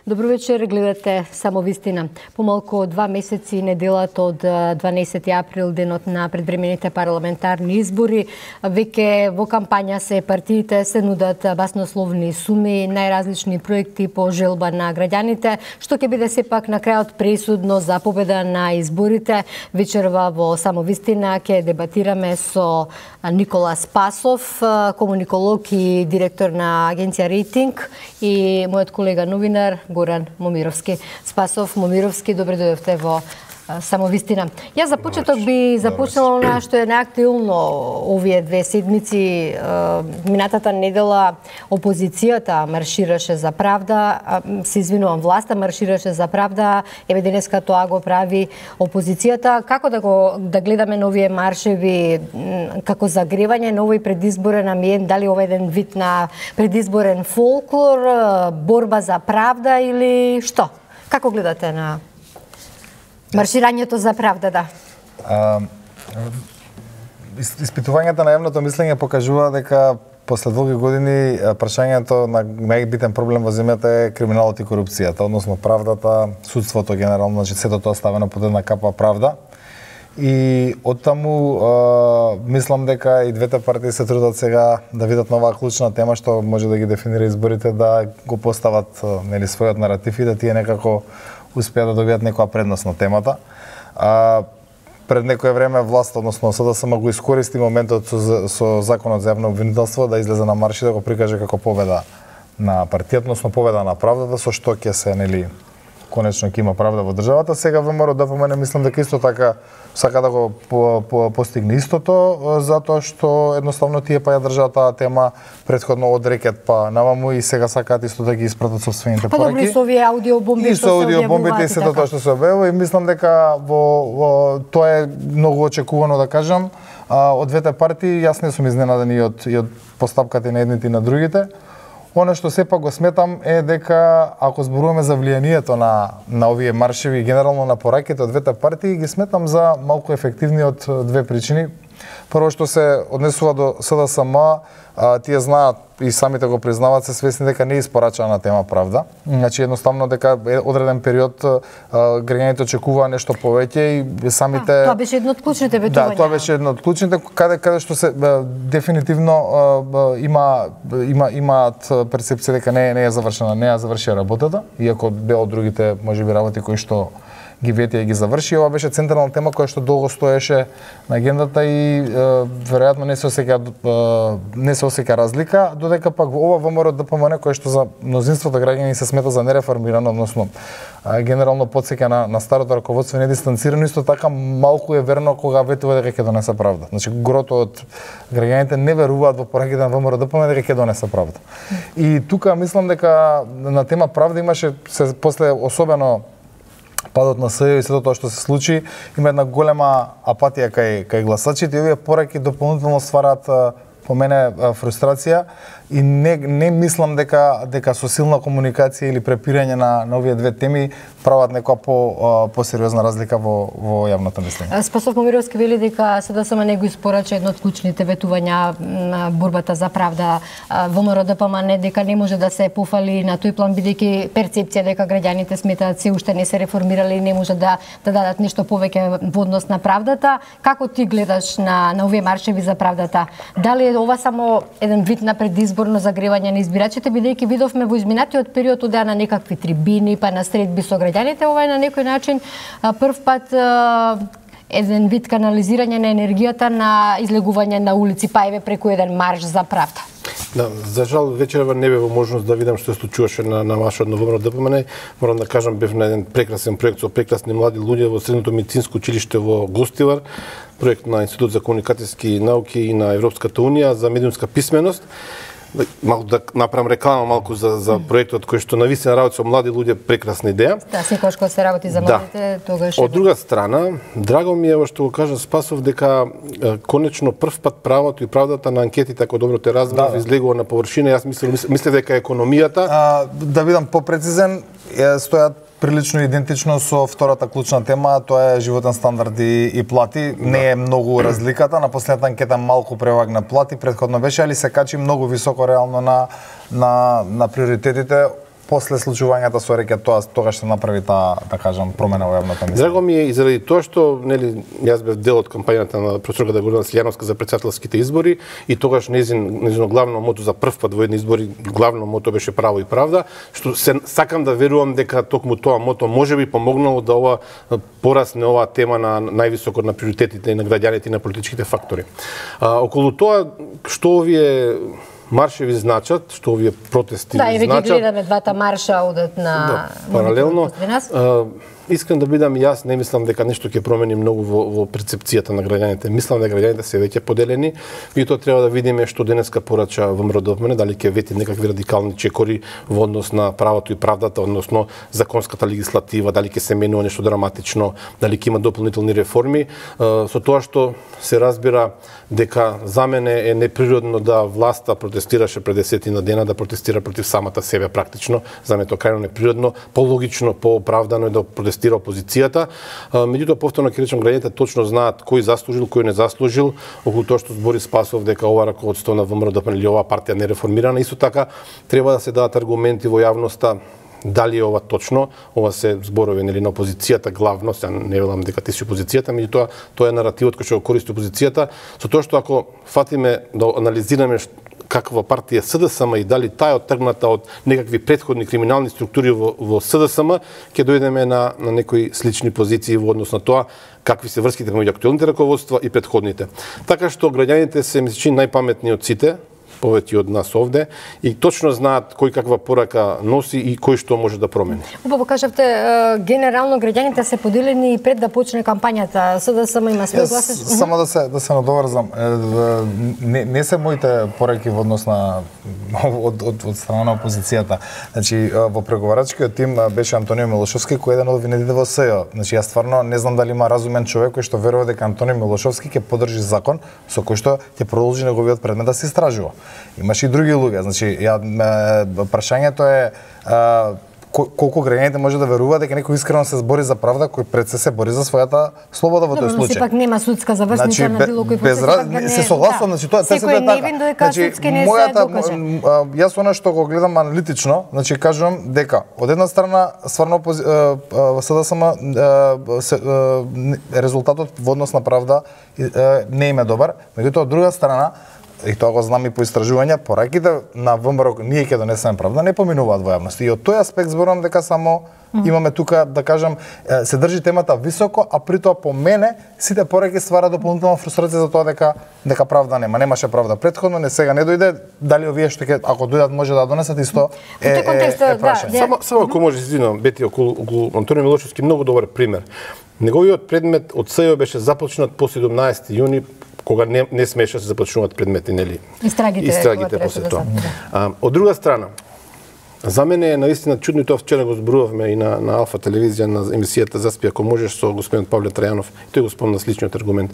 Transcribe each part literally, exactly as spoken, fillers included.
Добро вечер, гледате Само вистина. Помалку од два месеци неделата од дванаесети април, денот на предвремените парламентарни избори, веќе во кампања се партиите се нудат баснословни суми, најразлични проекти по желба на граѓаните, што ќе биде сепак на крајот пресудно за победа на изборите. Вечерва во Само вистина ќе дебатираме со Никола Спасов, комуниколог и директор на агенција Рейтинг, и мојот колега новинар Горан Момировски. Спасов, Момировски, добре дојдовте во Само вистина. Јас за почеток би започнала она што е наактуелно овие две седмици. Минатата недела опозицијата маршираше за правда, се извинувам, власта маршираше за правда, еве денеска тоа го прави опозицијата. Како да го да гледаме на овие маршеви како загревање на овој предизборен амбиент, дали ова еден вид на предизборен фолклор, борба за правда или што? Како гледате на марширањето за правда, да? А, испитувањата на јавното мислење покажува дека после долги години прашањето на најбитен проблем во земјата е криминалот и корупцијата, односно правдата, судството генерално, значи сето тоа ставено под една капа правда. И оттаму а, мислам дека и двете партии се трудат сега да видат на оваа клучна тема што може да ги дефинира изборите, да го постават нели својот наратив и да тие некако успеа да добијат некоја предност на темата. А, пред некое време власт, односно СДСМ, го искористи моментот со, со законот за јавно обвинителство да излезе на марш и да го прикаже како победа на партијата, односно победа на правдата, со што ќе се нели конечно ќе има правда во државата. Сега ВМРО да помене, мислам дека исто така сака да го по, по, постигне истото, затоа што едноставно тие па ја држаат таа тема претходно од рекет па наваму и сега сакаат исто да ги испратат собствените пораки. Па добро, и со овие аудиобомби и со аудиобомбите и сето тоа што се објавува, и мислам дека во, во тоа е многу очекувано, да кажам, а, од двете партии. Јас не сум изненаден и од, и од постапката на едните и на другите. Оно што сепак го сметам е дека ако зборуваме за влијанието на на овие маршеви, генерално на пораките од двете партии, ги сметам за малку ефективни од две причини. Прво што се однесува до СДСМ, а, тие знаат и самите го признаваат, се свесни дека не е испорачана тема правда. Значи едноставно дека одреден период а, граѓаните очекуваа нешто повеќе и самите а, тоа беше едно од клучните ветувања. Да, тоа беше едно од клучните каде каде што се а, дефинитивно а, има има имаат перцепција дека не не е завршена, не ја завршија работата, иако дел од другите можеби работи кои што ги ветија и ги заврши. Ова беше централна тема која што долго стоеше на агендата и е, веројатно не се осеќа не се осеќа разлика, додека пак ова ВМРО ДПМН кој што за мнозинството граѓани се смета за нереформирано, односно а, генерално потсеќа на, на старото раководство, не дистанцирано, исто така малку е верно кога ветува дека ќе донесе правда. Значи грото од граѓаните не веруваат во пораките на ВМРО ДПМН дека ќе донесе правда. И тука мислам дека на тема правда имаше се после особено падот на СЈО и сето тоа што се случи, има една голема апатија кај кај гласачите и овие пораки дополнително ствараат по мене фрустрација и не не мислам дека дека со силна комуникација или препирање на на овие две теми прават некоја по посериозна разлика во во јавното мислење. Спасов Момировски вели дека СДСМ не го испорача едно од клучните ветувања на борбата за правда. ВМРО ДПМН дека не може да се пофали на тој план, бидејќи перцепција дека граѓаните сметаат се уште не се реформирали и не може да да дадат нешто повеќе во однос на правдата. Како ти гледаш на на овие маршеви за правдата? Дали е ова само еден вид на предизборно загревање на избирачите, бидејќи видовме во изминатиот период одеа на некакви трибини, па на средби со граѓаните, ова е на некој начин прв пат еден вид канализирање на енергијата на излегување на улици, па еве преку еден марш за правда. Да, за жал вечерва не бе во можност да видам што се случуваше на на маршот на ВМРО ДПМН. Морам да кажам, бев на еден прекрасен проект со прекрасни млади луѓе во Средното медицинско училиште во Гостивар, проект на Институт за комуникацијски науки и на Европската унија за медиумска писменост. Малку да направам реклама малку за за проектот кој што навистина работи со млади луѓе, прекрасна идеја. Да, секогаш кога се работи за младите, да. Тогаш. Од друга страна, драго ми е во што го кажа Спасов дека е, конечно прв пат правото и правдата на анкетите, ако добро те разбрав, да, излегува на површина. Јас мислам мислев дека економијата, а, да бидам попрецизен, стојат прилично идентично со втората клучна тема, тоа е животен стандард и, и плати. Да. Не е многу разликата, на последната анкета малку превагна плати, претходно беше, али се качи многу високо реално на на на приоритетите. после случувањата со рекет тоа тогаш се направи таа, да кажам, промена во јавната мислење. Драго ми е и заради тоа што нели јас бев дел од кампањата на професорката Гордана Силјановска за претседателските избори и тогаш незин незино главно мото за прв пат во едни избори, главно мото беше право и правда, што се сакам да верувам дека токму тоа мото можеби помогнало да ова порасне оваа тема на највисоко на приоритетите и на граѓаните и на политичките фактори. А, околу тоа што овие маршеви значат, што овие протести да, значат. Да, и ги гледаме двата марша одат на да, паралелно. Искам да бидам јас, не мислам дека нешто ќе промени многу во, во перцепцијата на граѓаните. Мислам дека граѓаните се веќе поделени и тоа треба да видиме што денеска порача ВМРО ДПМН, дали ќе вети некакви радикални чекори во однос на правото и правдата, односно законската легислатива, дали ќе се менува нешто драматично, дали ќе има дополнителни реформи. Со тоа што се разбира дека за мене е неприродно да власта протестираше пред десетина дена, да протестира против самата себе практично. За мене тоа крајно неприродно, пологично, пооправдано е да протестира опозицијата. Меѓутоа повторно ќе речам, граѓаните точно знаат кој заслужил, кој не заслужил, околу тоа што збори Спасов дека ова раководство на ВМРО ДПМН или оваа партија не реформирана. Исто така треба да се дадат аргументи во јавноста дали е ова точно, ова се зборови нели на опозицијата главно, се не велам дека ти си опозицијата, меѓутоа тоа е наративот кој што го користи опозицијата, со тоа што ако фатиме да анализираме каква партија СДСМ и дали таа е оттргната од некакви претходни криминални структури во, во СДСМ, ќе дојдеме на, на некои слични позиции во однос на тоа какви се врските меѓу актуелните раководства и претходните. Така што граѓаните се мисличи најпаметни од сите, повеќе од нас овде, и точно знаат кој каква порака носи и кој што може да промени. Убаво кажавте, генерално граѓаните се поделени и пред да почне кампањата. СДСМ има свој глас. Само да се да се надоврзам, не, не се моите пораки во однос на од, од, од страна на опозицијата. Значи во преговарачкиот тим беше Антонио Милошовски, кој е еден од винедите во СЈО. Значи јас стварно не знам дали има разумен човек кој што верува дека Антонио Милошовски ќе поддржи закон со кој што ќе продолжи неговиот предмет да се истражува. Имаше и други луѓе, значи ја прашањето е а, колку граѓаните може да верува дека некој искрено се збори за правда, кој пред се се бори за својата слобода во тој случај. Добро, сепак нема судска завршница значи, на било кој процес. Без не, се согласувам, да. Значи тоа се е така. Значи мојата јас она што го гледам аналитично, значи кажувам дека од една страна стварно СДСМ резултатот во однос на правда не им е добар, меѓутоа од друга страна и тоа го знам и по истражувања, пораките на ВМРО ние ќе донесеме правда не поминуваат во јавност. И од тој аспект зборувам дека само mm. имаме тука, да кажам, се држи темата високо, а при тоа по мене сите пораки ствара дополнителна фрустрација за тоа дека дека правда нема. Немаше правда претходно, не сега не дојде, дали овие што ќе ако дојдат може да донесат исто е, е, е, е прашање. Да, само само ако може извинувам, Бети околу, околу Антонио Милошовски многу добар пример. Неговиот предмет од СЈО беше започнат по седумнаесети јуни, кога не, не смеше се започнуваат предмети, нели? Истрагите, Истрагите после тоа. А, од друга страна, за мене е наистина чудно, и тоа вчера го зборувавме и на, на Алфа телевизија, на емисијата Заспи ако можеш со господин Павле Трајанов, тој го спомна сличниот аргумент.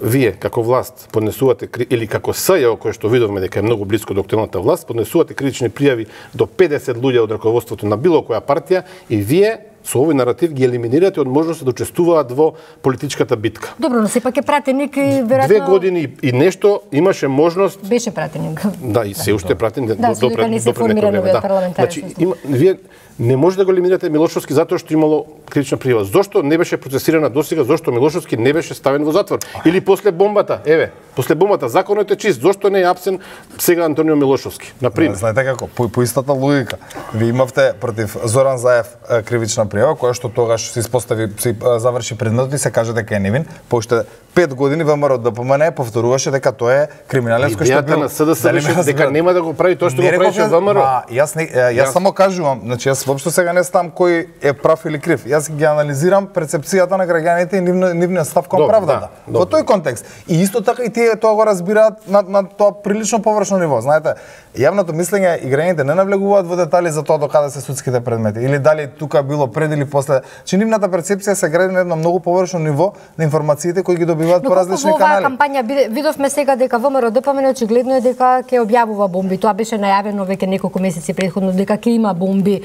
Вие, како власт, поднесувате, или како СЈО, кој што видовме дека е многу близко до актуелната власт, поднесувате критични пријави до педесет луѓе од раководството на било која партија и вие со овој наратив ги елиминирате од можност да учествуваат во политичката битка. Добро, но сепак е пратеник и веројатно две години и нешто имаше можност. Беше пратеник. Да, и се уште пратен до да, до пред до пред некој време, да. Значи, има, вие не може да го елиминирате Милошовски затоа што имало критична пријава. Зошто не беше процесирана досега? Зошто Милошовски не беше ставен во затвор? Или после бомбата? Еве, после бомбата законот е чист. Зошто не е апсен сега Антонио Милошовски? На пример. Знаете како, по, по истата логика. Ви имавте против Зоран Заев кривична пријава, која што тогаш се испостави, се заврши предметот и се каже дека е невин. По уште пет години ВМРО ДПМН повторуваше дека тоа е криминален кој што бил. Идејата на СДС беше дека нема да го прави тоа што го правеше ВМРО. Јас не, јас само кажувам, значи јас воопшто сега не знам кој е прав или крив. Јас ги анализирам перцепцијата на граѓаните и нивниот нивниот став кон правдата. Да, во тој контекст. И исто така и тие тоа го разбираат на на тоа прилично површно ниво. Знаете, јавното мислење и граѓаните не навлегуваат во детали за тоа до каде се судските предмети или дали тука било пред или после. Че нивната перцепција се гради на едно многу површно ниво на информациите кои ги добиваат по различни канали. Во оваа кампања видовме сега дека ВМРО ДПМН очигледно е дека ќе објавува бомби. Тоа беше најавено веќе неколку месеци претходно дека ќе има бомби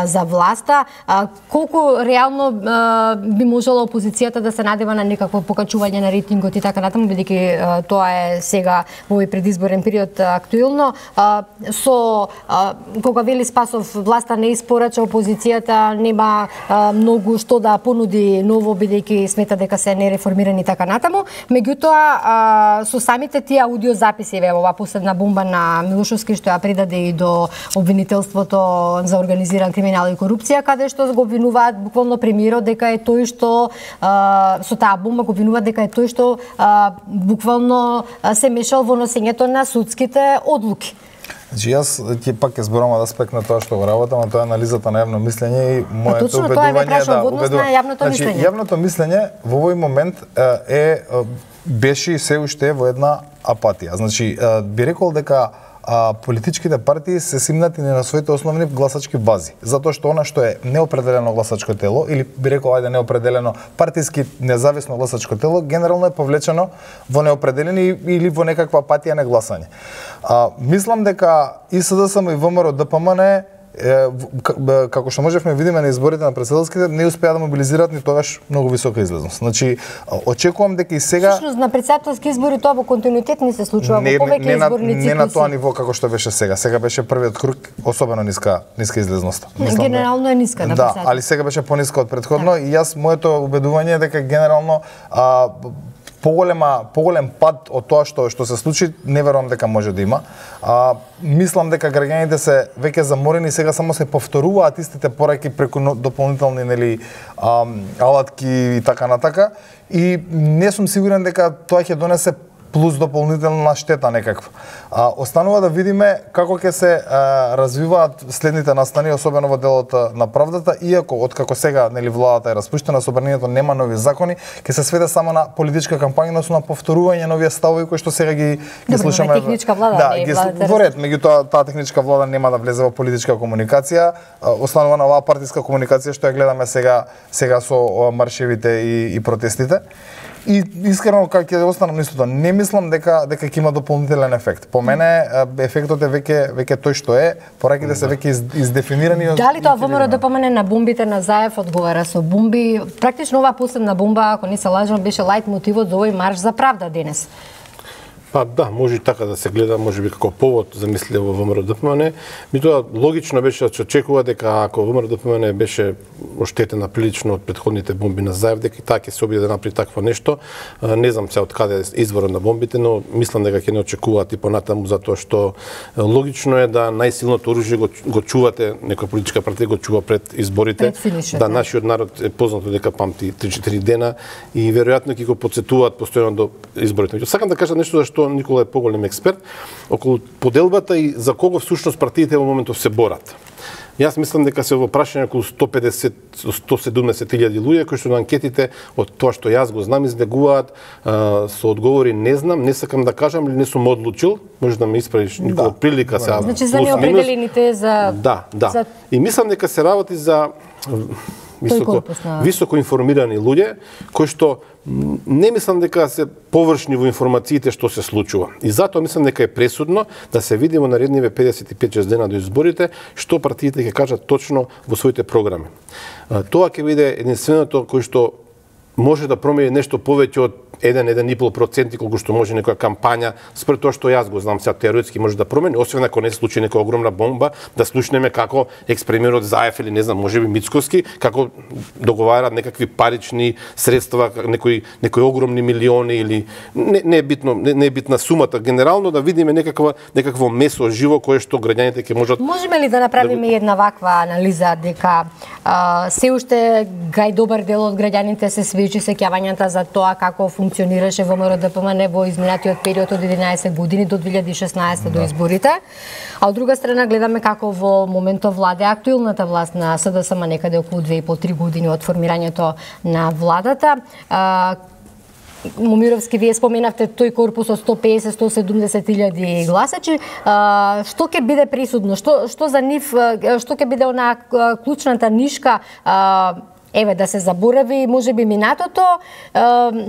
за власта. Колку реално би можела опозицијата да се надева на некакво покачување на рейтингот и така натаму, бидејќи тоа е сега во овој предизборен период актуелно. Со кога вели Спасов власта не испорача, опозицијата нема многу што да понуди ново, бидејќи смета дека се нереформирани и така натаму. Меѓутоа со самите тие аудиозаписи, еве ова последна бомба на Милошовски што ја предаде и до обвинителството за организиран криминал и корупција, каде што го обвинуваат буквално премиерот дека е тој што со таа бомба го обвинуваат дека е тој што буквално се мешал во носењето на судските одлуки. Значи јас ќе пак ќе зборам од аспект на тоа што го работам, а тоа е анализата на јавно мислење и моето точно, убедување е да убедува. Јавното значи, мислење. Јавното мислење во овој момент е беше и се уште е во една апатија. Значи би рекол дека а, политичките партии се симнати на своите основни гласачки бази, затоа што она што е неопределено гласачко тело или би рекол ајде неопределено партиски независно гласачко тело генерално е повлечено во неопределени или во некаква апатија на гласање. А, мислам дека и СДСМ и ВМРО ДПМН како што можевме видиме на изборите на претседателските, не успеа да мобилизираат ни тогаш многу висока излезност. Значи, очекувам дека и сега Всушност на претседателски избори тоа во континуитет не се случува не, во повеќе не, изборни циклуси. Не на тоа ниво како што беше сега. Сега беше првиот круг особено ниска ниска излезност. Мислам, генерално е ниска на да, али сега беше пониска од претходно и јас моето убедување е дека генерално а, поголема поголем пад од тоа што што се случи, не верувам дека може да има. А, мислам дека граѓаните се веќе заморени, сега само се повторуваат истите пораки преку дополнителни нели а, алатки и така натака и не сум сигурен дека тоа ќе донесе плюс дополнителна штета некаква. А, останува да видиме како ќе се а, развиваат следните настани, особено во делот на правдата, иако откако сега нели владата е распуштена, собранието нема нови закони, ќе се сведе само на политичка кампања, но на повторување на овие ставови кои што сега ги ги слушаме. Добре, техничка влада, да, не ги владата. Во ред, меѓутоа таа техничка влада нема да влезе во политичка комуникација, останува на оваа партиска комуникација што ја гледаме сега сега со маршевите и, и протестите. И искрено кога ќе останам на истото, не мислам дека дека ќе има дополнителен ефект. По мене ефектот е веќе веќе тој што е, пораките се веќе из, издефинирани. Дали тоа ВМРО ДПМН на бомбите на Заев одговара со бомби? Практично оваа последна бомба, ако не се лажам, беше лајт мотивот за овој марш за правда денес. Па да, може и така да се гледа, може би како повод за мислење во ВМРО ДПМН. Меѓутоа логично беше да се очекува дека ако ВМРО ДПМН беше оштетена прилично од претходните бомби на Заев, дека и таа ќе се обиде да направи такво нешто. Не знам се од каде е изворот на бомбите, но мислам дека ќе не очекуваат и понатаму затоа што логично е да најсилното оружје го, го чувате, некоја политичка партија го чува пред изборите. Пред да, нашиот народ е познато дека памти три-четири дена и веројатно ќе го потсетуваат постојано до изборите. Сакам да кажам нешто за што Никола е поголем експерт, околу поделбата и за кого всушност партиите во моментов се борат. Јас мислам дека се во прашање околу сто педесет до сто седумдесет илјади луѓе кои што на анкетите од тоа што јас го знам излегуваат а, со одговори не знам, не сакам да кажам или не сум одлучил, може да ме исправиш Никола да. Прилика сега. Значи за неопределените за Да, да. За... И мислам дека се работи за високо на... високо информирани луѓе кои што не мислам дека се површни во информациите што се случува. И затоа мислам дека е пресудно да се види во наредниве педесет и пет шест дена до изборите што партиите ќе кажат точно во своите програми. Тоа ќе биде единственото кој што може да промени нешто повеќе од еден до еден и пол проценти колку што може некоја кампања, според тоа што јас го знам, сега теоретски може да промени, освен ако не се случи некоја огромна бомба, да слушнеме како екс-премиерот Заев или не знам, можеби Мицковски, како договараат некакви парични средства, некои некои огромни милиони или не, не е битно, не, не е битна сумата, генерално да видиме некаква некакво месо живо кое што граѓаните ќе можат. Можеме ли да направиме да... една ваква анализа дека а, се уште гај добар дел од граѓаните се свечи сеќавањата за тоа како функционираше ВМРО ДПМН во изминатиот период од единаесет години до две илјади и шеснаесета да. До изборите, а од друга страна гледаме како во моментов владе актуелната власт на СДСМ некаде околу две и по три години од формирањето на владата. А, Момировски, вие споменавте тој корпус од сто песет до сто седумдесет илјади гласачи. А, што ќе биде присудно? Што што за нив што ќе биде онаа клучната нишка? А, Еве, да се заборави, можеби минатото,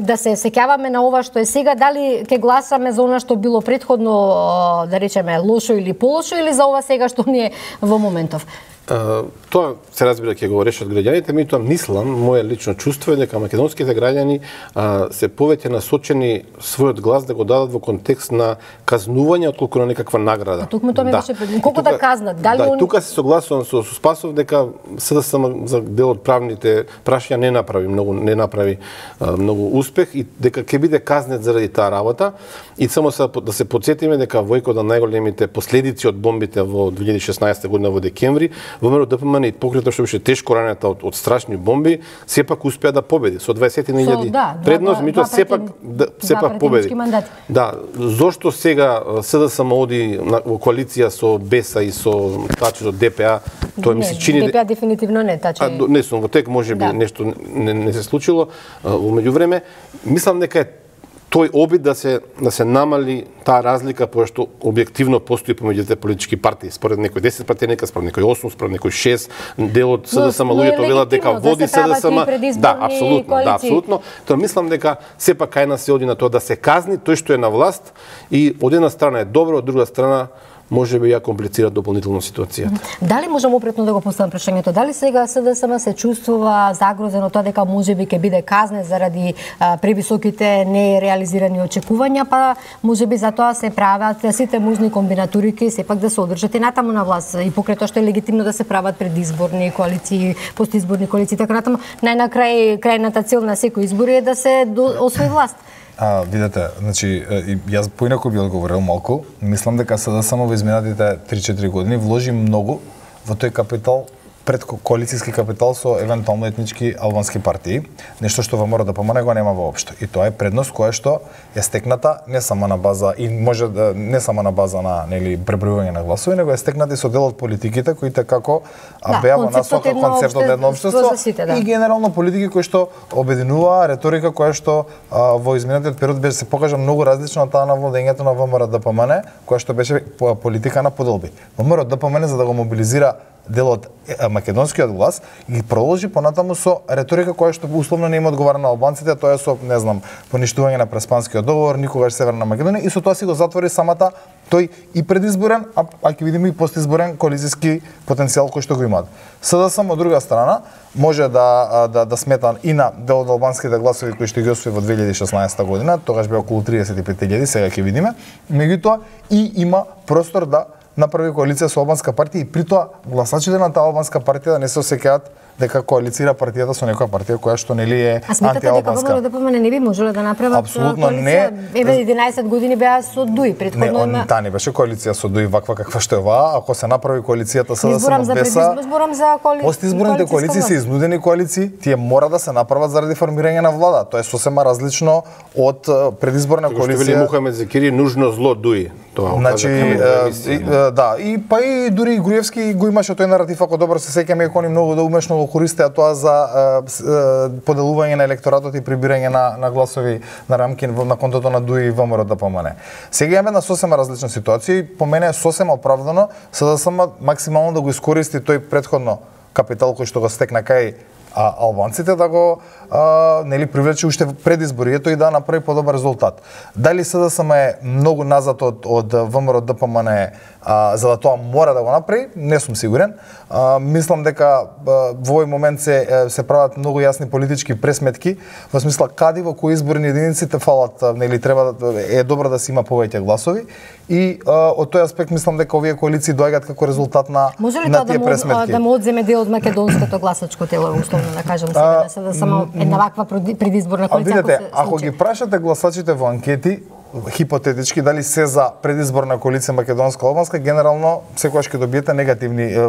да се сеќаваме на ова што е сега, дали ќе гласаме за она што било претходно, да речеме, лошо или полошо, или за ова сега што ни е во моментов? Uh, тоа се разбира ќе го решат граѓаните, меѓутоа мислам, моје лично чувство е дека македонските граѓани uh, се повеќе насочени својот глас да го дадат во контекст на казнување отколку на некаква награда. А тукму тоа ми да. беше пред... колку да казнат? Дали да, он... тука се согласувам со, со Спасов дека СДСМ за дел од правните прашања не направи многу не направи uh, многу успех и дека ќе биде казнет заради таа работа и само се, да се потсетиме дека во еден од најголемите последици од бомбите во две илјади и шеснаесета година во декември ВМРО ДПМН и покрај тоа што беше тешко ранета од, од страшни бомби, сепак успеа да победи со дваесет илјади да, предност, меѓутоа сепак да, сепак победи. Мандати. Да, зошто сега СДСМ оди на, во коалиција со БЕСА и со тачи од ДПА, тоа ми се чини ДПА дефинитивно не тачи. А, не сум во тек можеби да. Нешто не, не се случило во меѓувреме, мислам дека е тој обид да се да се намали таа разлика која што објективно постои помеѓу двете политички партии. Според некој десет пратеника, според некој осум, според некој шест, дел од СДСМ луѓето велат дека води СДСМ. Да, апсолутно, да, апсолутно. Тоа мислам дека сепак кај нас се оди на тоа да се казни тој што е на власт и од една страна е добро, од друга страна може би ја комплицира дополнително ситуацијата. Дали можам опретно да го поставам прашањето? Дали сега СДСМ се чувствува загрозено тоа дека можеби ќе биде казнен заради а, превисоките нереализирани очекувања, па можеби затоа се прават сите можни комбинатурики сепак да се одржат и натаму на власт и покрај тоа што е легитимно да се прават предизборни коалиции, постизборни коалиции, така натаму. Најнакрај крајната цел на секој избори е да се освои власт. А, видете, значи, јас поинаку би одговорил малку. Мислам дека СДСМ во изминатите три-четири години вложи многу во тој капитал, пред коалицијски капитал со евентуално етнички албански партии, нешто што ВМРО ДПМН го нема воопшто. И тоа е предност која што е стекната не само на база и може да не само на база на нели пребројување на гласови, него е стекната и со дел од политиките кои како да, беа во насока концептот на едно општество сите, да. И генерално политики кои што обединуваа реторика која што а, во изминатиот период беше се покажа многу различно од таа на владењето на ВМРО ДПМН, која што беше политика на поделби. ВМРО ДПМН за да го мобилизира дел од македонскиот глас и продолжи понатаму со реторика која што условно не им одговара на албанците, тоа е со, не знам, поништување на Преспанскиот договор, никогаш Северна Македонија и со тоа си го затвори самата тој и предизборен, а, а ќе видиме и постизборен коалицијски потенцијал кој што го имаат. СДСМ од друга страна може да да да смета и на дел од албанските гласови кои што ги освои во две илјади и шеснаесета година, тогаш беа околу триесет и пет илјади, сега ќе видиме. Меѓутоа и има простор да направи коалиција со албанска партија и при тоа гласачите на таа албанска партија да не се осеќаат дека коалицира партијата со некоја партија која што нели е антиалбанска. А сметате дека ВМРО ДПМН не би можело да направат апсолутно коалиција? Не. Еве единаесет години беа со ДУИ, претходно не, таа не беше коалиција со ДУИ ваква каква што е оваа, ако се направи коалицијата СДСМ БЕСА. Изборам за коалиција. Постизборните коалиции се изнудени коалиции, тие мора да се направат заради формирање на влада. Тоа е сосема различно од предизборна коалиција. Што вели Мухамед Зекири, нужно зло ДУИ. Тоа значи, и, да, и па и дури и Груевски го имаше тој наратив, ако добро се сеќаме, кои многу да умешно го користеа тоа за е, поделување на електоратот и прибирање на, на гласови на рамки на контото на ДУИ и ВМРО ДПМН. Сега имаме една сосема различна ситуација и по мене е сосема оправдано СДСМ максимално да го искористи тој претходно капитал кој што го стекна кај а албанците да го а, нели привлече уште пред изборието и да направи подобар резултат. Дали СДСМ е многу назад од од ВМРО ДПМН а, за да тоа мора да го направи, не сум сигурен. А, мислам дека а, во овој момент се се прават многу јасни политички пресметки во смисла каде во кои изборни единици те фалат, нели треба да е добро да се има повеќе гласови и а, од тој аспект мислам дека овие коалиции доаѓаат како резултат на на тие пресметки. Може ли тоа да му одземе дел од македонското гласачко тело, условно да кажам сега, да се само една ваква предизборна коалиција? Видете, ако ги прашате гласачите во анкети, хипотетички дали се за предизборна коалиција македонска-албанска, генерално секогаш ќе добиете негативни е,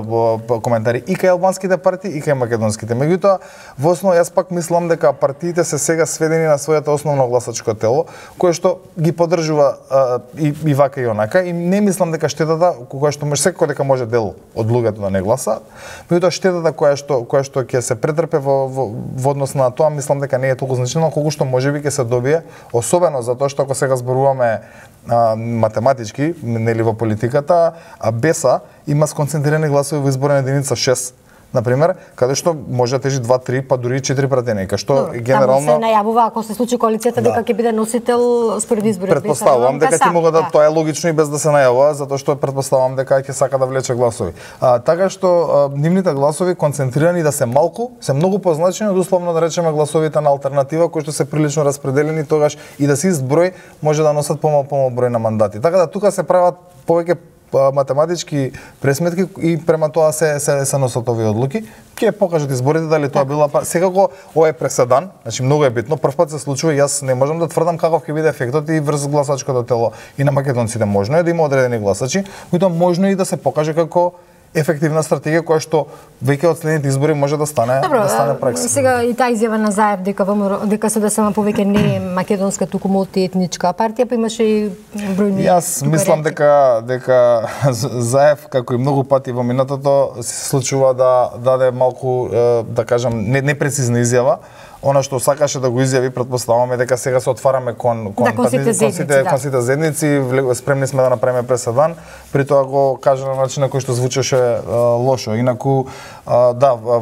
коментари и кај албанските партии и кај македонските. Меѓутоа, во основа јас пак мислам дека партиите се сега сведени на своето основно гласачко тело, кое што ги поддржува а, и, и вака и онака, и не мислам дека штетата која што може секој дека може дел од луѓето да не гласа, меѓутоа штетата која што која што ќе се претрпе во, во, во однос на тоа, мислам дека не е толку значително колку што можеби ќе се добие, особено затоа што ако сега зборуваме а, математички, нели во политиката, а БЕСА има сконцентрирани гласови во изборна единица шест на пример, каде што може да тежи два, три, па дури четири пратеника, што Добро, генерално таму се најавува ако се случи коалицијата да. дека ќе биде носител според изборите. Претпоставувам дека ти мога да, да тоа е логично и без да се најавува, затоа што претпоставувам дека ќе сака да влече гласови. А, така што а, нивните гласови концентрирани да се малку, се многу позначени од условно да речеме гласовите на алтернатива кои што се прилично распределени, тогаш и да се ист број може да носат помал помал број на мандати. Така да тука се прават повеќе математички пресметки и према тоа се се се носат овие одлуки. Ќе покажат изборите дали тоа била секако ова е преседан, значи многу е битно. Прв пат се случува и јас не можам да тврдам каков ќе биде ефектот и врз гласачкото тело и на македонците. Можно е да има одредени гласачи, меѓутоа можно е и да се покаже како ефективна стратегија која што веќе од следните избори може да стане Добро, да стане пракса. Сега и таа изјава на Заев дека ВМРО дека СДСМ повеќе не е македонска туку мултиетничка партија, па имаше и бројни. Јас мислам дека дека Заев како и многу пати во минатото се случува да даде малку да кажам непрецизна изјава. Она што сакаше да го изјави, претпоставуваме дека сега се отвараме кон кон да, кон сите зедници, да. кон сите зедници, спремни сме да направиме преседан, при тоа го кажа на начин на кој што звучеше а, лошо. Инаку а, да, а,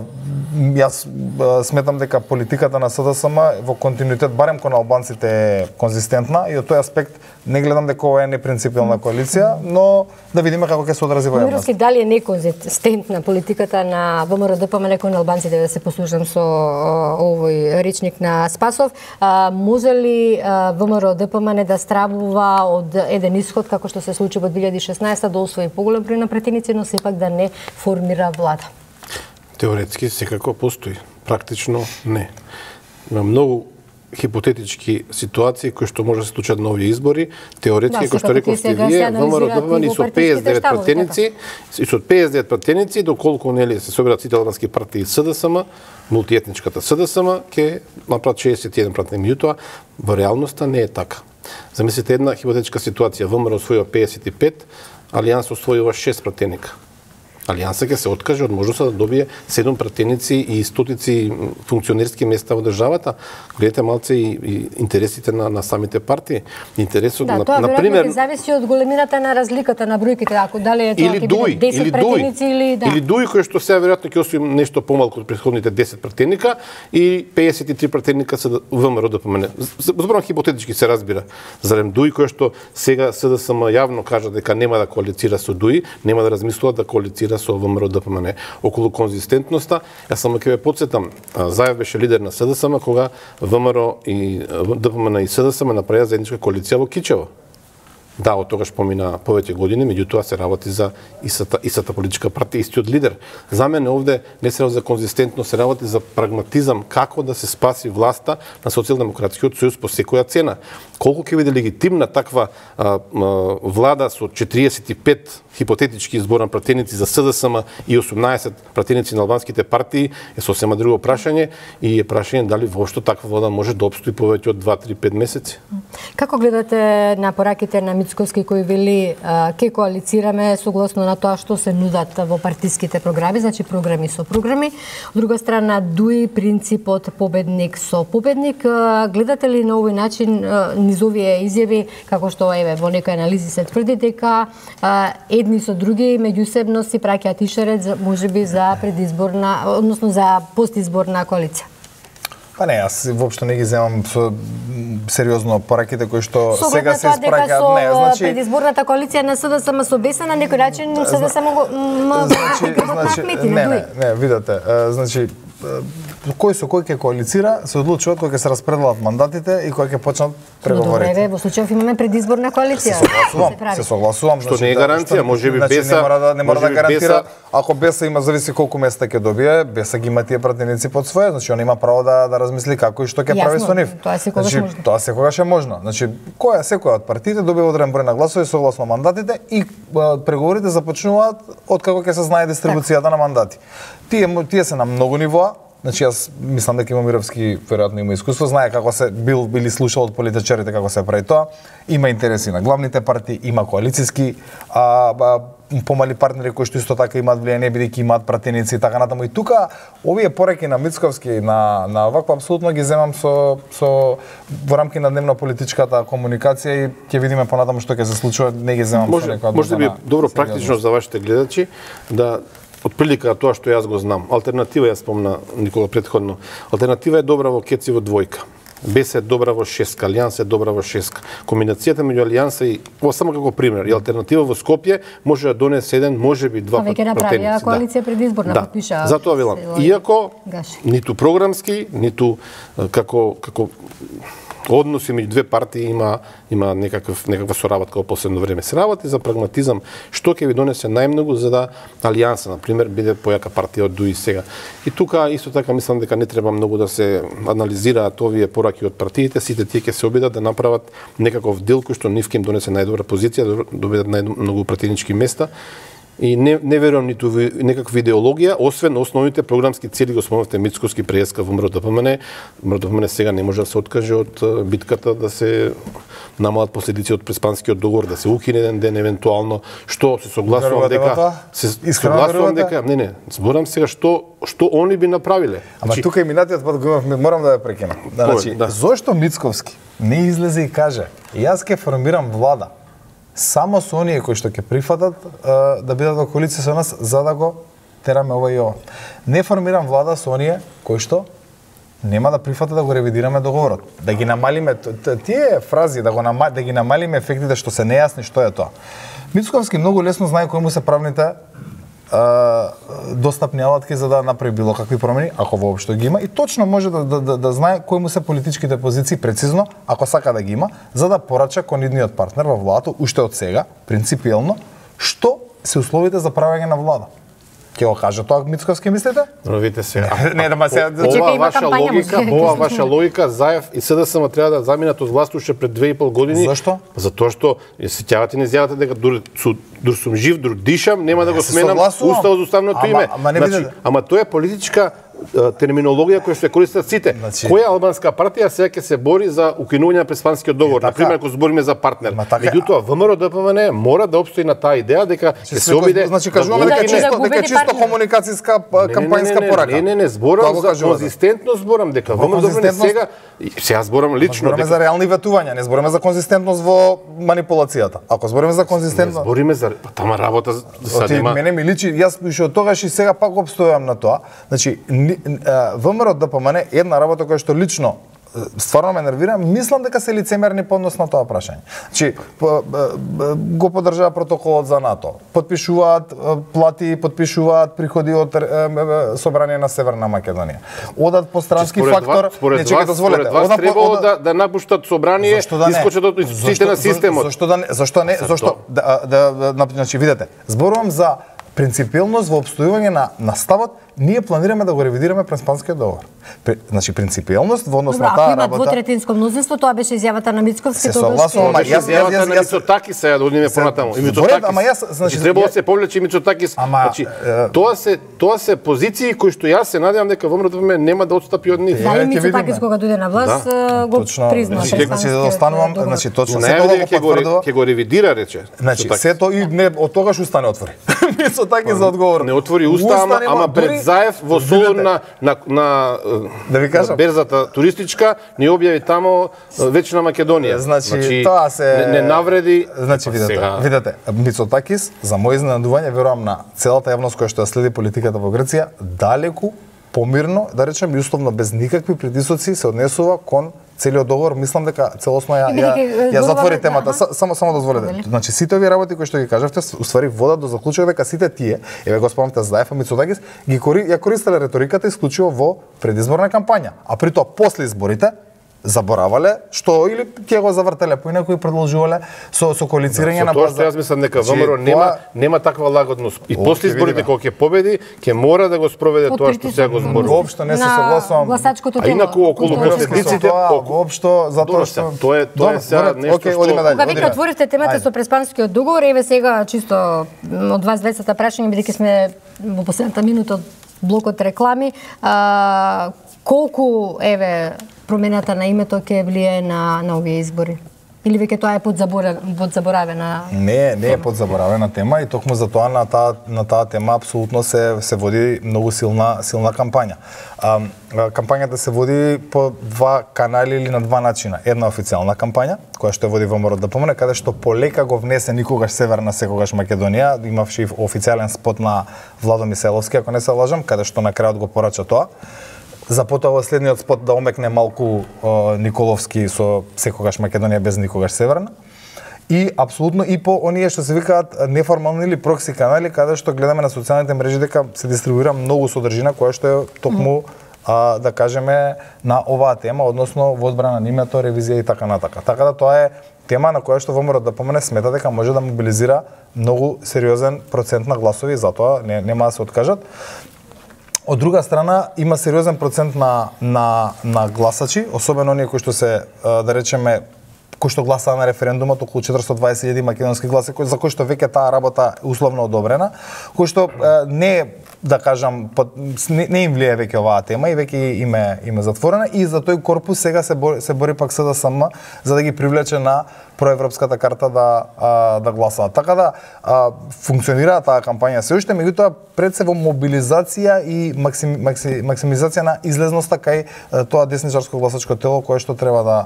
јас а, сметам дека политиката на СДСМ во континуитет барем кон албанците е конзистентна и од тој аспект не гледам дека ова е непринципиална коалиција, но да видиме како ќе се одрази во јавност. Мировски, дали е неконзистентна политиката на ВМРО Д П М Н кон албанците, да се послушам со овој речник на Спасов, а, може ли ВМРО Д П М Н да стравува од еден исход како што се случи во две илјади и шеснаесета да освои поголем број на пратеници, но сепак да не формира влада? Теоретски секако постои, практично не. Има многу хипотетички ситуации кои што може да се случат на овие избори. Теоретски, како што рековте вие, ВМРО Д П М Н и со педесет и девет пратеници, и со педесет и девет пратеници, доколку нели се соберат сите албански партии СДСМ, мултиетничката СДСМ, ќе направат шеесет и еден пратеник. Меѓутоа, во реалноста не е така. Замислете една хипотетичка ситуација, ВМРО освојува педесет и пет, Алијанс освојува шест пратеника. Алијанса ќе се откаже од можноста да добие седум пратеници и стотици функционерски места во државата. Гледате малце и, и интересите на, на самите партии. Интересот да, на, тоа на пример ќе зависи од големината на разликата на бројките, ако дали е тоа или ќе дуи, биде десет или пратеници или да. Или дуи кои што сега веројатно ќе освои нешто помалку од претходните десет пратеника и педесет и три пратеника се ВМРО Д П М Н. Зборам хипотетички се разбира. Зарем дуи кои што сега СДСМ јавно кажа дека нема да коалицира со дуи, нема да размислуваат да коалицира со ВМРО Д П М Н. Околу конзистентноста, јас само ќе ве потсетам, Заев беше лидер на СДСМ кога ВМРО и Д П М Н и СДСМ направија заедничка коалиција во Кичево. Да, од тогаш помина повеќе години, меѓутоа се работи за истата, истата политичка партија, истиот лидер. За мене овде не се работи за конзистентност, се работи за прагматизам, како да се спаси власта на Социјалдемократскиот сојуз по секоја цена. Колку ќе биде легитимна таква а, а, влада со четириесет и пет хипотетички изборни пратеници за СДСМ и осумнаесет пратеници на албанските партии е сосема друго прашање и е прашање дали воопшто таква влада може да обстои повеќе од два, три, пет месеци. Како гледате на пораките на Мицковски кој вели ке коалицираме согласно на тоа што се нудат во партиските програми, значи програми со програми. Од друга страна, дуи принципот победник со победник. Гледате ли на овој начин низ овие изјави, како што еве во некои анализи се тврди дека едни со други меѓусебно си праќаат ишерет можеби за предизборна, односно за постизборна коалиција? Па не, јас воопшто не ги земам со сериозно пораките кои што Со сега се испраќаат. Не, значи предизборната коалиција на СДСМ со Беса на некој начин СДСМ го значи, значи не, не, не, видете, значи кој со кој ќе коалицира, се одлучуваат кога ќе се распределат мандатите и кога ќе почнат преговорите. Добре, во случајов имаме предизборна коалиција. Се согласувам, се согласувам. Што не е гаранција, можеби Беса не мора да не мора да гарантира, ако Беса има зависи колку места ќе добие, Беса ги има тие пратеници под своје, значи он има право да да размисли како и што ќе прави со нив. Тоа секогаш значи, можно. Тоа секогаш е можно. Значи, која секоја од партиите добива одреден број на гласови согласно мандатите и а, преговорите започнуваат од како ќе се знае дистрибуцијата на мандати. Тие тие се на многу нивоа. Значи јас мислам дека има Мировски веројатно има искуство, знае како се бил били слушал од политичарите како се прави тоа. Има интереси на главните партии, има коалициски а, а помали партнери кои што исто така имаат влијание бидејќи имаат пратеници и така натаму. И тука овие пораки на Мицковски на на вакво апсолутно ги земам со со во рамки на дневно политичката комуникација и ќе видиме понатаму што ќе се случува, не ги земам може, со некоја може да би добро практично за вашите гледачи да отприлика тоа што јас го знам. Алтернатива ја спомна Никола претходно. Алтернатива е добра во Кеци во двојка. Бес е добра во шестка, Алијанса е добра во шестка. Комбинацијата меѓу Алијанса и ова само како пример, и алтернатива во Скопје може да донесе еден, можеби два пратеници. А веќе направија коалиција предизборна, да. подпиша. Затоа велам, иако ниту програмски, ниту како како односи меѓу две партии има има некаков некаква соработка во последно време. Се работи за прагматизам, што ќе ви донесе најмногу за да Алијанса, на пример, биде појака партија од ДУИ сега. И тука исто така мислам дека не треба многу да се анализираат овие пораки од партиите, сите тие ќе се обидат да направат некаков дел кој што нив ќе им донесе најдобра позиција, да добедат најмногу пратенички места. И не, не верувам ниту ви, некаква идеологија, освен основните програмски цели, го спомнавте Мицковски, Преска во МРДПМН. МРДПМН сега не може да се откаже од битката да се намалат последици од Преспанскиот договор, да се укине еден ден евентуално, што се согласувам дека се согласувам дека не не, зборам сега што што они би направиле. Ама тука и минатиот пат го имавме, морам да ја прекинам. Значи, да. Зошто Мицковски не излезе и каже: "Јас ќе формирам влада само со оние кои што ќе прифатат да бидат во коалиција со нас, за да го тераме ова и ова. Не формирам влада со оние кои што нема да прифатат да го ревидираме договорот. Да ги намалиме тие фрази, да го нама, да ги намалиме ефектите што се нејасни што е тоа." Мицковски многу лесно знае кои му се правните достапни алатки за да направи било какви промени, ако воопшто ги има, и точно може да, да, да, да знае кои му се политичките позиции прецизно, ако сака да ги има, за да порача кон идниот партнер во владата уште од сега, принципиелно, што се условите за правење на влада. Ќе го каже тоа Мицковски, мислите? Но видите се. Не, да ма се ова ваша логика, ова ваша логика, Заев и СДСМ треба да заминат од власт уште пред две и пол години. Зашто? Затоа што се сеќавате не изјавата дека дур, дур сум жив, дур дишам, нема да го сменам уставот за уставното име. Ама, значи, ама тоа е политичка терминологија која што ја користат сите. Значи, која албанска партија сега ќе се бори за укинување на Преспанскиот договор, така, на пример кога збориме за партнер. Така, меѓутоа ВМРО-ДПМН мора да опстои на таа идеја дека ќе се обиде. Значи кажуваме дека чисто дека чисто комуникацијска кампањска порака. Не, не, не, зборам за конзистентност, зборам дека ВМРО-ДПМН сега сега зборам лично. Збориме за реални ветувања, не збориме за конзистентност во манипулацијата. Ако збориме за конзистентност, не збориме за тама работа за нема. Мене ми личи, јас уште од тогаш и сега пак обстојам на тоа. Значи ВМРО-ДПМН една работа која што лично стварно ме нервира, мислам дека се лицемерни по однос на тоа прашање. Значи, го поддржаа протоколот за НАТО, подпишуваат плати, подпишуваат приходи од собрание на Северна Македонија. Одат по странски фактор, не чекај дозволете. Според вас требало да да напуштат собрание, искочат од институциите на системот. Зошто да не? Зошто не? Зошто да да значи видете, зборувам за принципиелност во обстојување на на ставот, ние планираме да го ревидираме Преспанскиот договор. При, значи принципиелност во однос на таа работа. Ако има двотретинско мнозинство, тоа беше изјавата на Мицковски, тоа согласувам, беше изјавата на Мицотакис, сега да одиме понатаму. И Мицотакис. Ама јас, значи, требало да се повлече Мицотакис. Значи, тоа се тоа се позиции кои што јас се надевам дека ВМРО-ДПМН нема да отстапи од нив. Да, и Мицотакис кога дојде на власт го призна. Значи останувам, значи точно се тоа го потврдува. Ќе го ревидира, рече. Значи сето и не од тогаш устане отвори. Мицотакис за одговор. Не отвори уста, ама пред Заев во на на на да ви кажам, берзата туристичка ни објави тамо вечна Македонија. Значи, значи тоа се не, не навреди. Значи видете, сега... видете, Мицотакис за мој изненадување, верувам на целата јавност која што ја следи политиката во Грција, далеку помирно, да речем, и условно без никакви притисоци се однесува кон целиот договор. Мислам дека целосно ја ја, ја затвори темата. Само само дозволете. Значи сите овие работи кои што ги кажавте, уствари водат до заклучок дека сите тие, еве го спомнавте Заев и Мицотакис, ги кори, ја користеле реториката исклучиво во предизборна кампања, а при тоа после изборите заборавале што или ќе го завртеле по некои продолжувале со со коалицирање на база. Тоа што јас мислам дека ВМРО нема нема таква лагодност. И после изборите кога ќе победи, ќе мора да го спроведе тоа што сега го зборува. Воопшто не се согласувам. А инаку околу последиците, воопшто затоа што тоа е тоа е сега нешто што кога веќе отворите темата со Преспанскиот договор, еве сега чисто од вас дваесет прашања, бидејќи сме во последната минута од блокот реклами, а, колку еве промената на името ќе влијае на на овие избори? Или веќе тоа е подзаборавена? Не, не е подзаборавена тема и токму за тоа на таа на таа тема апсолутно се се води многу силна силна кампања. А, кампањата се води по два канали или на два начина. Една официјална кампања која што води ВМРО да помине, каде што полека го внесе никогаш Северна, секогаш Македонија, имавши официјален спот на Владо Мисајловски, ако не се лажам, каде што на крајот го порача тоа. За потоа во следниот спот да омекне малку о, Николовски со секогаш Македонија без никогаш Северна. И апсолутно и по оние што се викаат неформални или прокси канали, каде што гледаме на социјалните мрежи дека се дистрибуира многу содржина која што е токму а, да кажеме на оваа тема, односно во одбрана на името, ревизија и така натака. Така да тоа е тема на која што ВМРО да помине смета дека може да мобилизира многу сериозен процент на гласови, затоа не, нема да се откажат. Од друга страна, има сериозен процент на, на, на гласачи, особено оние кои што се, да речеме, кои што гласаа на референдумот, околу четиристотини и дваесет илјади македонски гласи, за кои што веќе таа работа е условно одобрена, кои што не, да кажам, не, не им влие веќе оваа тема и веќе име име затворена и за тој корпус сега се бори, се бори пак СДСМ за да ги привлече на проевропската карта да а, да гласаат. Така да а, функционира таа кампања се уште, меѓутоа пред се во мобилизација и максим, макси, максимизација на излезноста кај а, тоа десничарско гласачко тело кое што треба да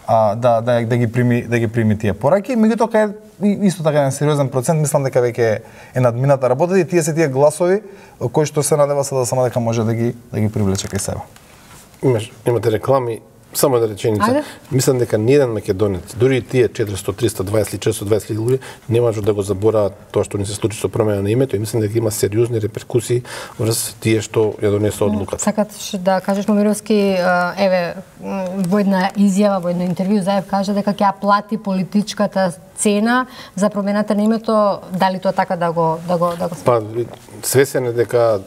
а, да, да, да ги прими да ги прими тие пораки, меѓутоа кај исто така еден сериозен процент, мислам дека веќе е надмината работа и тие се тие гласови кои што се надева се да само дека може да ги да ги привлече кај себе. Имаш, имате реклами. Само една реченица. Ајде. Мислам дека ниеден македонец, дури и тие четиристотини, триста и дваесет или четиристотини и дваесет илјади луѓе, не можат да го забораат тоа што ни се случи со промена на името и мислам дека има сериозни реперкусии врз тие што ја донесоа одлуката. Сакаш да кажеш, Момировски, еве, во една изјава, во едно интервју Заев кажа дека ќе ја плати политичката цена за промената на името, дали тоа така да го да го да го Па свесен е дека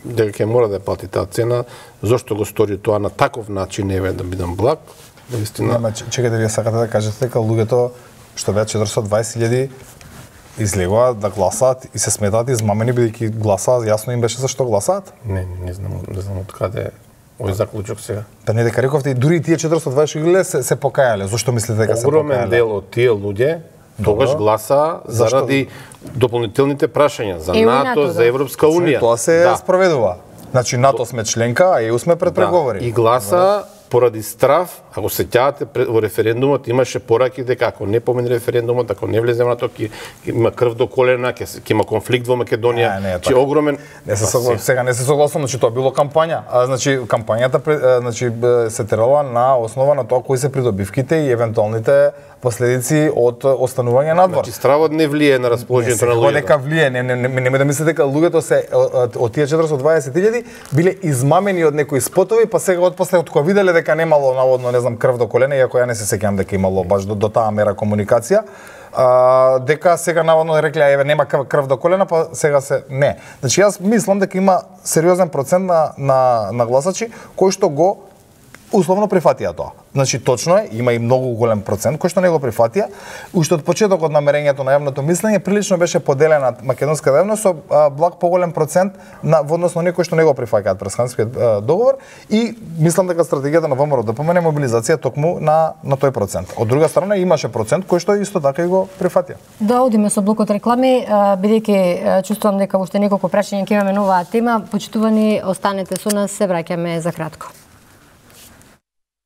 дека ќе мора да плати таа цена, зошто го стори тоа на таков начин, еве да бидам благ, наистина. Нема, чекате, вие сакате да кажете дека луѓето што беа четиристотини и дваесет илјади излегоа да гласаат и се сметаат измамени бидејќи гласаат, јасно им беше зашто гласаат? Не, не знам, не знам од каде овој заклучок сега. Па не дека рековте, дури и тие четиристотини и дваесет илјади се, се покајале. Зошто мислите дека се покајале? Огромен дел од тие луѓе тогаш гласа заради дополнителните прашања за НАТО, за Европска унија. Тоа се да. спроведува. Значи НАТО сме членка, а ЕУ сме пред преговори. Да. И гласа поради страф, ако се сеќавате во референдумот имаше пораки дека ако не помине референдумот, ако не влезе во НАТО, ќе има крв до колена, ќе ќе има конфликт во Македонија, не, че огромен. Не се согласувам, сега не се согласувам, значи тоа било кампања. А значи кампањата значи се терала на основа на тоа кои се придобивките и евентуалните последици од останување надвор. Значи стравот не влие на расположението на луѓето. Не, дека влие, не, не, не, не да мислите дека луѓето се од тие четиристотини и дваесет илјади биле измамени од некои спотови, па сега отпосле од кога виделе дека немало наводно, не знам, крв до колена, иако ја не се сеќавам дека имало баш до, до таа мера комуникација, а, дека сега наводно рекле еве нема крв до колена, па сега се не. Значи јас мислам дека има сериозен процент на на, на гласачи кои што го условно прифатија тоа. Значи точно е, има и многу голем процент кој што не го прифатија. Уште од почетокот на мерењето на јавното мислење прилично беше поделена македонската јавност со а, благ поголем процент на во однос на оние кои што не го прифаќаат Пресханскиот договор и мислам дека стратегијата на ВМРО да помине мобилизација токму на на тој процент. Од друга страна имаше процент кој што исто така и го прифатија. Да одиме со блокот реклами, бидејќи чувствувам дека уште неколку прашања ќе имаме на оваа тема. Почитувани, останете со нас, се враќаме за кратко.